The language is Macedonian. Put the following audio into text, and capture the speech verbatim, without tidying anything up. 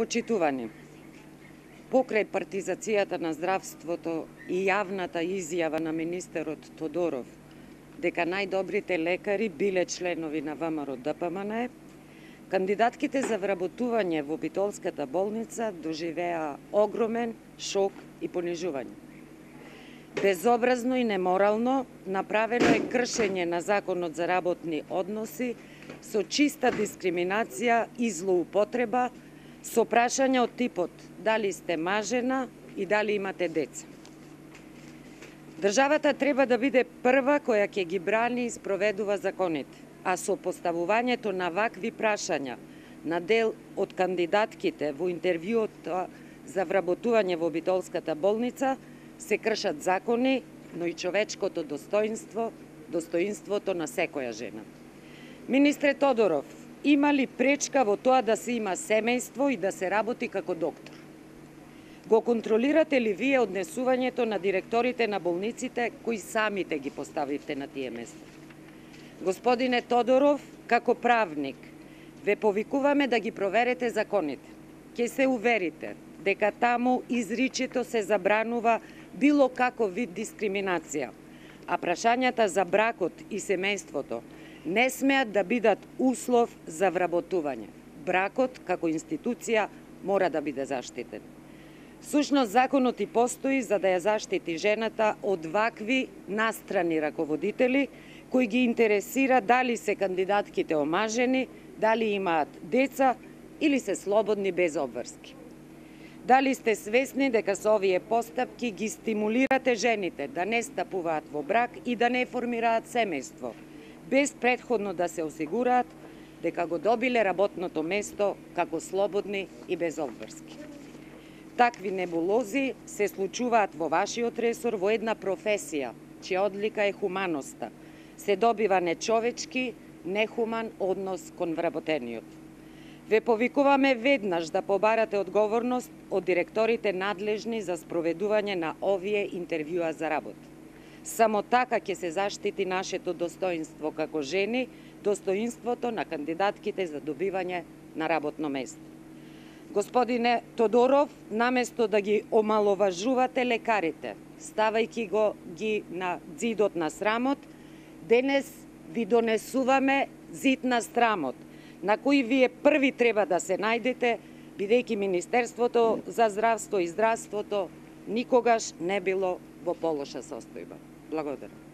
Почитувани, покрај партизацијата на здравството и јавната изјава на министерот Тодоров дека најдобрите лекари биле членови на ВМРО Д П М Н, кандидатките за вработување во Битолската болница доживеа огромен шок и понижување. Безобразно и неморално направено е кршење на Законот за работни односи со чиста дискриминација и злоупотреба, со прашања од типот дали сте мажена и дали имате деца. Државата треба да биде прва која ќе ги брани и спроведува законите, а со поставувањето на вакви прашања на дел од кандидатките во интервјуот за вработување во Битолската болница се кршат закони, но и човечкото достоинство, достоинството на секоја жена. Министре Тодоров, има ли пречка во тоа да се има семејство и да се работи како доктор? Го контролирате ли вие однесувањето на директорите на болниците кои самите ги поставивте на тие места? Господине Тодоров, како правник, ве повикуваме да ги проверете законите. Ќе се уверите дека таму изричито се забранува било каков вид дискриминација, а прашањата за бракот и семејството не смеат да бидат услов за вработување. Бракот, како институција, мора да биде заштитен. Сушност, законот и постои за да ја заштити жената од вакви настрани раководители, кои ги интересира дали се кандидатките омажени, дали имаат деца или се слободни без обврски. Дали сте свесни дека со овие постапки ги стимулирате жените да не стапуваат во брак и да не формираат семејство, без претходно да се осигураат дека го добиле работното место како слободни и без обврски. Такви небулози се случуваат во вашиот ресор во една професија, чија одлика е хуманоста. Се добива нечовечки, нехуман однос кон вработениот. Ве повикуваме веднаш да побарате одговорност од директорите надлежни за спроведување на овие интервјуа за работа. Само така ќе се заштити нашето достоинство како жени, достоинството на кандидатките за добивање на работно место. Господине Тодоров, наместо да ги омаловажувате лекарите, ставајќи го ги на ѕидот на срамот, денес ви донесуваме зид на срамот, на кој вие први треба да се најдете, бидејќи Министерството за здравство и здравството никогаш не било во полоша состојба. Благодарам.